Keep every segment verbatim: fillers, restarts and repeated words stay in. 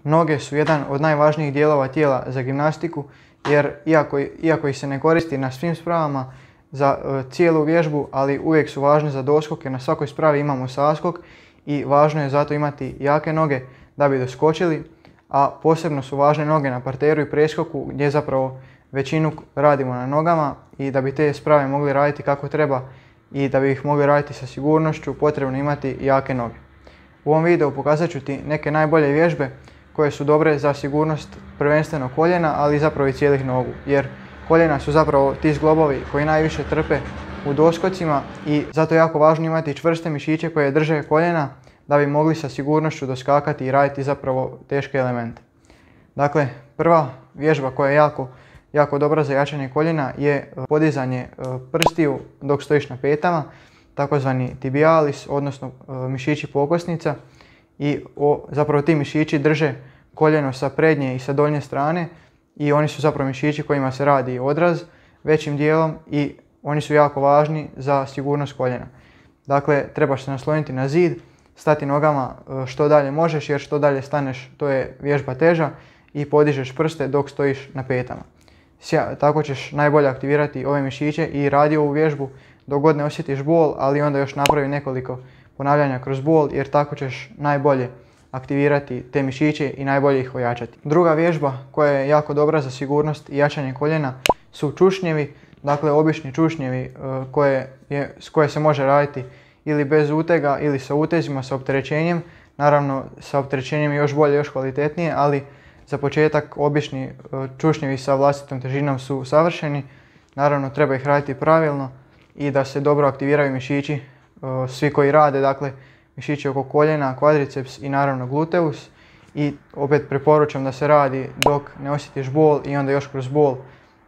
Noge su jedan od najvažnijih dijelova tijela za gimnastiku jer iako, iako ih se ne koristi na svim spravama za uh, cijelu vježbu, ali uvijek su važne za doskok jer na svakoj spravi imamo saskok i važno je zato imati jake noge da bi doskočili, a posebno su važne noge na parteru i preskoku gdje zapravo većinu radimo na nogama i da bi te sprave mogli raditi kako treba i da bi ih mogli raditi sa sigurnošću potrebno imati jake noge. U ovom videu pokazat ću ti neke najbolje vježbe koje su dobre za sigurnost prvenstveno koljena, ali zapravo i cijelih nogu, jer koljena su zapravo ti zglobovi koji najviše trpe u doskocima i zato je jako važno imati čvrste mišiće koje drže koljena da bi mogli sa sigurnošću doskakati i raditi zapravo teške elemente. Dakle, prva vježba koja je jako, jako dobra za jačanje koljena je podizanje prstiju dok stojiš na petama, takozvani tibialis, odnosno mišići pokosnica. I o, zapravo ti mišići drže koljeno sa prednje i sa donje strane i oni su zapravo mišići kojima se radi odraz većim dijelom i oni su jako važni za sigurnost koljena. Dakle, trebaš se nasloniti na zid, stati nogama što dalje možeš jer što dalje staneš to je vježba teža i podižeš prste dok stojiš na petama. Sja, tako ćeš najbolje aktivirati ove mišiće i radi ovu vježbu dok god ne osjetiš bol, ali onda još napravi nekoliko ponavljanja kroz bol jer tako ćeš najbolje aktivirati te mišiće i najbolje ih ojačati. Druga vježba koja je jako dobra za sigurnost i jačanje koljena su čušnjevi, dakle obični čušnjevi koje, je, s koje se može raditi ili bez utega ili sa utezima, sa opterećenjem. Naravno sa opterećenjem je još bolje, još kvalitetnije, ali za početak obični čušnjevi sa vlastitom težinom su savršeni. Naravno treba ih raditi pravilno i da se dobro aktiviraju mišići svi koji rade, dakle mišići oko koljena, kvadriceps i naravno gluteus. I opet preporučam da se radi dok ne osjetiš bol i onda još kroz bol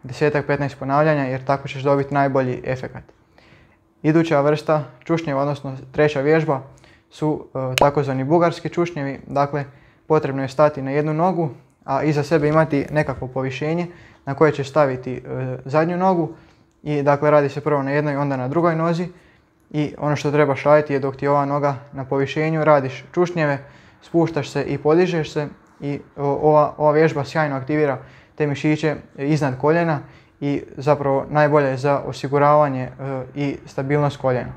deset do petnaest ponavljanja jer tako ćeš dobiti najbolji efekat. Iduća vrsta čušnjeva, odnosno treća vježba su e, takozvani bugarski čušnjevi. Dakle, potrebno je stati na jednu nogu, a iza sebe imati nekakvo povišenje na koje ćeš staviti e, zadnju nogu. I dakle radi se prvo na jednoj, onda na drugoj nozi. I ono što trebaš raditi je dok ti je ova noga na povišenju, radiš čušnjeve, spuštaš se i podižeš se i ova, ova vježba sjajno aktivira te mišiće iznad koljena i zapravo najbolje je za osiguravanje e, i stabilnost koljena.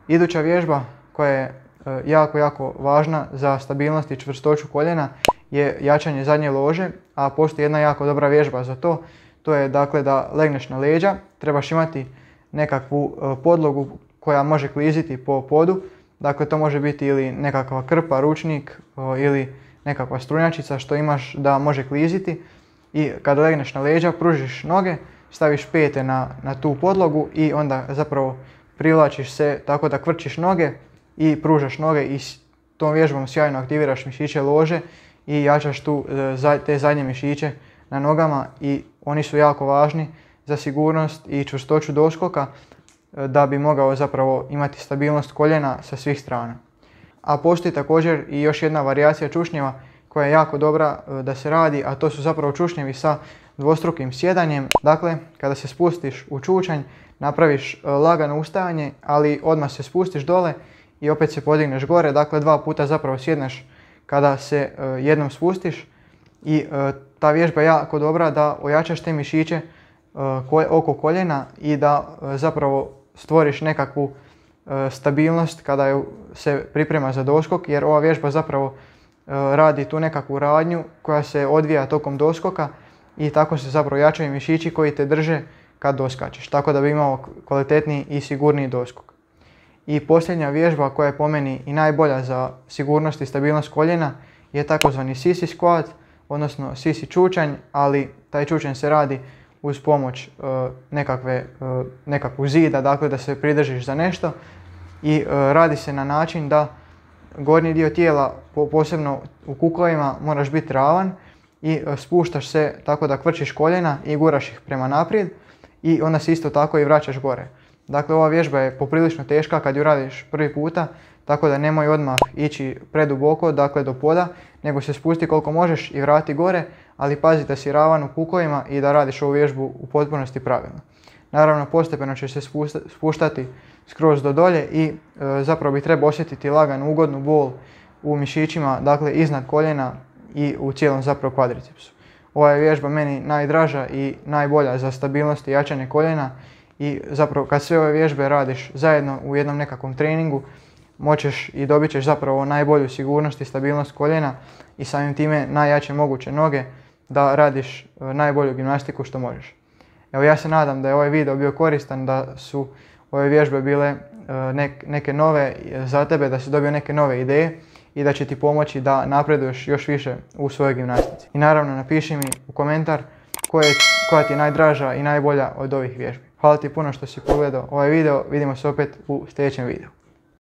Iduća vježba koja je e, jako, jako važna za stabilnost i čvrstoću koljena je jačanje zadnje lože, a postoji jedna jako dobra vježba za to. To je dakle da legneš na leđa, trebaš imati nekakvu e, podlogu koja može kliziti po podu. Dakle, to može biti ili nekakva krpa, ručnik o, ili nekakva strunjačica što imaš da može kliziti. I kada legneš na leđa, pružiš noge, staviš pete na, na tu podlogu i onda zapravo privlačiš se tako da kvrčiš noge i pružaš noge i s tom vježbom sjajno aktiviraš mišiće lože i jačaš tu e, te zadnje mišiće na nogama i oni su jako važni za sigurnost i čvrstoću doskoka da bi mogao zapravo imati stabilnost koljena sa svih strana. A postoji također i još jedna varijacija čušnjeva koja je jako dobra da se radi, a to su zapravo čušnjevi sa dvostrukim sjedanjem. Dakle, kada se spustiš u čučanj, napraviš lagano ustajanje, ali odmah se spustiš dole i opet se podigneš gore. Dakle, dva puta zapravo sjedneš kada se jednom spustiš i ta vježba je jako dobra da ojačaš te mišiće oko koljena i da zapravo stvoriš nekakvu stabilnost kada se priprema za doskok, jer ova vježba zapravo radi tu nekakvu radnju koja se odvija tokom doskoka i tako se zapravo jačaju mišići koji te drže kad doskačeš, tako da bi imao kvalitetniji i sigurniji doskok. I posljednja vježba koja je po meni i najbolja za sigurnost i stabilnost koljena je takozvani sisi squat, odnosno sisi čučanj, ali taj čučanj se radi uz pomoć uh, nekakve, uh, nekakvog zida, dakle da se pridržiš za nešto i uh, radi se na način da gornji dio tijela, po, posebno u kuklavima, moraš biti ravan i uh, spuštaš se tako da kvrčiš koljena i guraš ih prema naprijed i onda se isto tako i vraćaš gore. Dakle, ova vježba je poprilično teška kad ju radiš prvi puta, tako da nemoj odmah ići preduboko, dakle do poda, nego se spusti koliko možeš i vrati gore, ali pazi da si ravan u kukovima i da radiš ovu vježbu u potpunosti pravilno. Naravno, postepeno će se spuštati skroz do dolje i e, zapravo bi trebao osjetiti laganu ugodnu bol u mišićima, dakle iznad koljena, i u cijelom zapravo kvadricepsu. Ova je vježba meni najdraža i najbolja za stabilnost i jačanje koljena i zapravo kad sve ove vježbe radiš zajedno u jednom nekakvom treningu moćeš i dobit ćeš zapravo najbolju sigurnost i stabilnost koljena i samim time najjače moguće noge da radiš najbolju gimnastiku što možeš. Evo, ja se nadam da je ovaj video bio koristan, da su ove vježbe bile neke nove za tebe, da si dobio neke nove ideje i da će ti pomoći da napreduješ još više u svojoj gimnastici. I naravno napiši mi u komentar koje, koja ti je najdraža i najbolja od ovih vježbi. Hvala ti puno što si pogledao ovaj video, vidimo se opet u sljedećem videu.